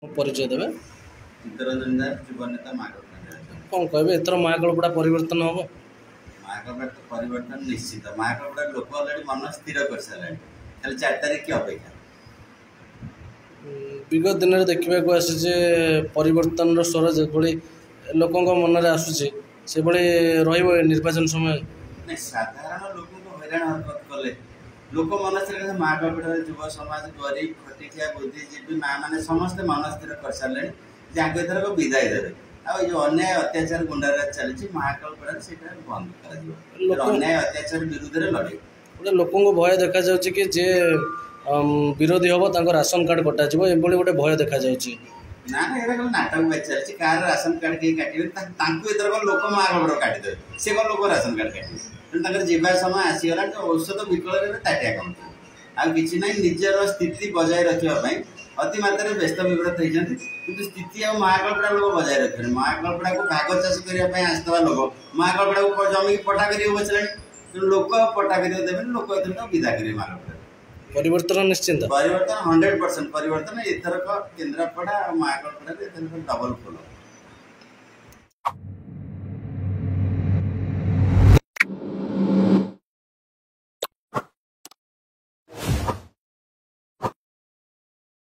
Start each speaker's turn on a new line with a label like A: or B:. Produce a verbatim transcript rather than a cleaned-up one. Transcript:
A: ପରିଚୟ ଦେବେ।
B: ଚିତ୍ତରଞ୍ଜନ ଦାସ, ଯୁବ ନେତା, ମହାକଳପଡ଼ା।
A: କ'ଣ କହିବେ, ଏଥର ମହାକାଳପଡ଼ା ପରିବର୍ତ୍ତନ ହେବ?
B: ମହାକଳପଡ଼ା ତ ପରିବର୍ତ୍ତନ ନିଶ୍ଚିତ। ମହାକଳପଡ଼ା ଲୋକ ଅଲରେଡ଼ି ମନ ସ୍ଥିର କରିସାରିଲାଣି, ଖାଲି ଚାରି ତାରିଖ କି ଅପେକ୍ଷା।
A: ବିଗତ ଦିନରେ ଦେଖିବାକୁ ଆସିଛି ପରିବର୍ତ୍ତନର ସ୍ୱର ଯେଭଳି ଲୋକଙ୍କ ମନରେ ଆସୁଛି, ସେଭଳି ରହିବ ଏ ନିର୍ବାଚନ ସମୟ?
B: ନାଇଁ, ସାଧାରଣ ଲୋକଙ୍କୁ ହଇରାଣ ହରକତ କଲେ ଲୋକ ମନସ୍ଥିର। ମହାକଳପଡ଼ାର ଯୁବ ସମାଜ, ଗରିବ, ଖଟିଖିଆ, ବୁଦ୍ଧିଜୀବୀ, ମା ମାନେ ସମସ୍ତେ ମନସ୍ଥିର କରିସାରିଲେଣି ଯେ ଆଗ ଏଥରକ ବିଦାୟ ଦେବେ। ଆଉ ଏଇ ଯେଉଁ ଅନ୍ୟାୟ ଅତ୍ୟାଚାର ଗୁଣ୍ଡାରାଜ ଚାଲିଛି ମହାକାଳପଡ଼ାରେ, ସେଇଟା ବନ୍ଦ କରାଯିବ। ଅନ୍ୟାୟ ଅତ୍ୟାଚାର ବିରୁଦ୍ଧରେ ଲଢ଼େଇ।
A: ଗୋଟେ ଲୋକଙ୍କୁ ଭୟ ଦେଖାଯାଉଛି କି ଯିଏ ବିରୋଧୀ ହେବ ତାଙ୍କ ରାସନ କାର୍ଡ଼ କଟାଯିବ, ଏଭଳି ଗୋଟେ ଭୟ ଦେଖାଯାଉଛି।
B: ନା ନା, ଏଇଟା ଖାଲି ନାଟକ ବାଜି ଚାଲିଛି। କାହାର ରାସନ କାର୍ଡ଼ କେହି କାଟିବେନି। ତାଙ୍କୁ ଏଥରକ ଲୋକ ମହାକାଳପଡ଼ା କାଟିଦେବେ, ସେ କ'ଣ ଲୋକ ରାସନ କାର୍ଡ଼ କାଟିବେ? ତେଣୁ ତାଙ୍କର ଯିବା ସମୟ ଆସିଗଲାଣି। ଔଷଧ ବିକଳରେ ଏବେ ତାଟିଆ କାମୁଡୁଛନ୍ତି, ଆଉ କିଛି ନାହିଁ। ନିଜର ସ୍ଥିତି ବଜାୟ ରଖିବା ପାଇଁ ଅତି ମାତ୍ରାରେ ବ୍ୟସ୍ତ ବିବ୍ରତ ହେଇଛନ୍ତି, କିନ୍ତୁ ସ୍ଥିତି ଆଉ ମହାକାଳପଡ଼ା ଲୋକ ବଜାୟ ରଖିବେନି। ମହାକାଳପଡ଼ାକୁ ଭାଗ ଚାଷ କରିବା ପାଇଁ ଆସିଥିବା ଲୋକ ମହାକାଳପଡ଼ାକୁ ଜମିକି ପଟା କରିବାକୁ ବସିଲାଣି। ତେଣୁ ଲୋକ ଆଉ ପଟା କରିବାକୁ ଦେବେନି, ଲୋକ ଏଥର ବିଦା କରିବେ ମହାକାଳପଡ଼ା।
A: ପରିବର୍ତ୍ତନ ନିଶ୍ଚିନ୍ତ।
B: ପରିବର୍ତ୍ତନ ହଣ୍ଡ୍ରେଡ଼ ପରସେଣ୍ଟ ପରିବର୍ତ୍ତନ ଏଥରକ କେନ୍ଦ୍ରାପଡ଼ା ଆଉ ମହାକାଳପଡ଼ାରେ ଏଥରକ ଡବଲ ଫୁଲ।